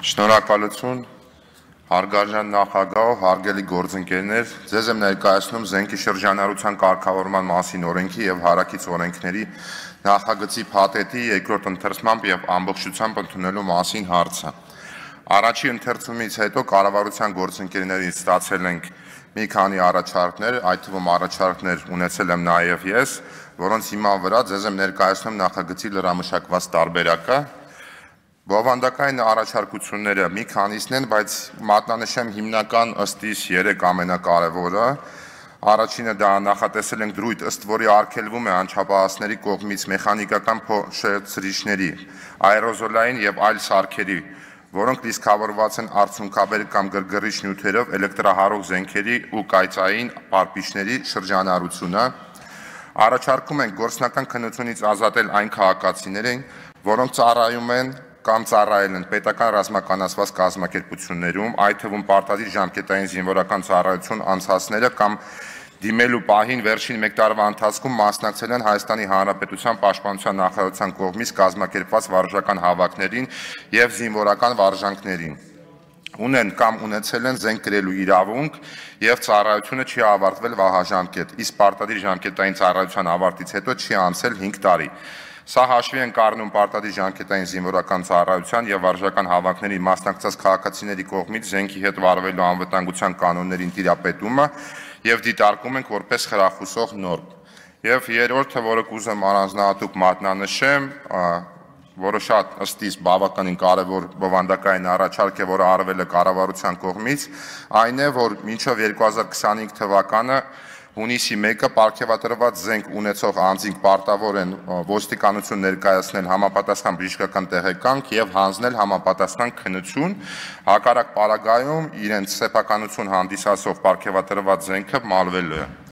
Շնորհակալություն, հարգարժան նախագահ, հարգելի գործընկերներ, ձեզ եմ ներկայացնում զենքի շրջանառության կարգավորման մասին օրենքի և հարակից օրենքների նախագծի փաթեթի երկրորդ ընթերցմամբ և ամբողջությամբ ընդունելու մասին հարցը։ Առաջի ընթերցումից հետո կառավարության գործընկերներից ստացել ենք մի քանի առաջարկներ, այդ թվում առաջարկներ ունեցել եմ նաև ես, որոնց հիման վրա ձեզ եմ ներկայացնում նախագծի լրամշակված տարբերակը։ Բովանդակային առաջարկությունները մի քանիսն են, բայց մատնանշեմ հիմնական ըստ իս 3 ամենակարևորը։ Առաջինը դա նախատեսել ենք դրույթ, ըստ որի արգելվում է անչափահասների կողմից մեխանիկական փոշեցրիչների, աերոզոլային և այլ սարքերի, որոնք լիցքավորված են արցունքաբեր կամ գրգռիչ նյութերով էլեկտրահարող զենքերի ու կայծային պարպիչների շրջանառությունը։ Առաջարկում ենք գործնական քննությունից ազատել այն քաղաքացիներին, որոնք ծառայում են կամ ծառայել են պետական ռազմականացված կազմակերպություններում, այդ թվում պարտադիր ժամկետային զինվորական ծառայություն անցածները կամ դիմելու պահին վերջին 1 տարվա ընթացքում մասնակցել են Հայաստանի Հանրապետության Պաշտպանության նախարարության կողմից կազմակերպված վարժական հավաքներին և զինվորական վարժանքներին, ունեն կամ ունեցել են զենք կրելու իրավունք և ծառայությունը չի ավարտվել վահաժամկետ, իսկ պարտադիր ժամկետային ծառայության ավարտից հետո չի անցել 5 տարի։ Սա հաշվի ենք առնում պարտադիր ժամկետային զինվորական ծառայության և վարժական հավաքների մասնակցած քաղաքացիների կողմից զենքի հետ վարվելու անվտանգության կանոններին տիրապետումը և դիտարկում ենք որպես խրախուսող նորմ։ Եվ երրորդը, որը կուզեմ առանձնահատուկ մատնանշեմ, որը շատ ըստ իս բավականին կարևոր բովանդակային առաջարկ է, որը արվել է կառավարության կողմից, այն է, որ մինչև 2025 թվականը հունիսի 1-ը պարգևատրված զենք ունեցող անձինք պարտավոր են ոստիկանություն ներկայացնել համապատասխան բժշկական տեղեկանք և հանձնել համապատասխան քննություն, հակառակ պարագայում իրենց սեփականություն հանդիսացող պարգևատրված զենքը մալվելու է։